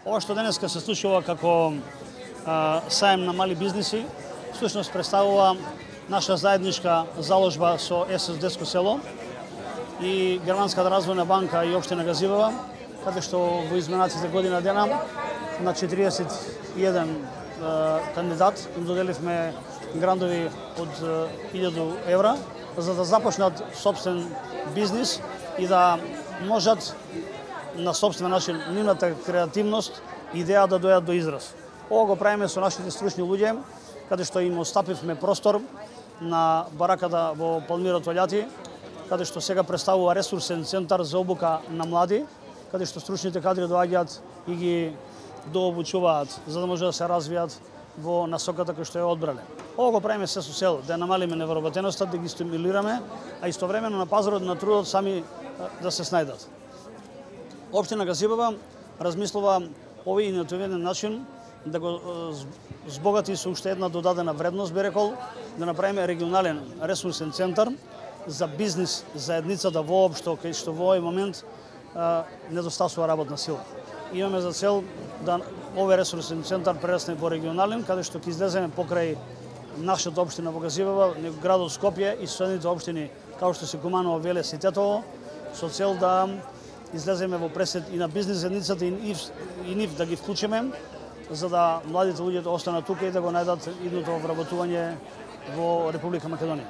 Ова што денеска се случува како саем на мали бизниси, всушност представува наша заедничка заложба со ССД-ско село и Германската развојна банка и општина Газивева, каде што во изминатите година дена на 41 кандидат им доделивме грантови од 1000 евра за да започнат собствен бизнис и да можат на собствен начин нивната креативност и идеја да дојдат до израз. Ова го правиме со нашите стручни луѓе, каде што им остапивме простор на бараката во Палмира Тољати, каде што сега представува ресурсен центар за обука на млади, каде што стручните кадри доаѓаат и ги дообучуваат за да може да се развијат во насоката која што ја одбрале. Ова го правиме се со цел да намалиме невработеноста, да ги стимулираме, а истовремено на пазарот на трудот сами да се снајдат. Општина Газивева размислува овој иновативен начин да го збогати со уште една додадена вредност, би рекол, да направиме регионален ресурсен центар за бизнис заедницата воопшто, кај што во овој момент недостасува работна сила. Имаме за цел да овој ресурсен центар прерасне во регионален, каде што ќе излеземе покрај нашата општина во Газивева, градот Скопје и соседните општини, како што се Куманово, Велес и Тетово, со цел да излеземе во пресет и на бизнис заедницата и нив да ги вклучиме, за да младите луѓе останат тука и да го најдат идното вработување во Република Македонија.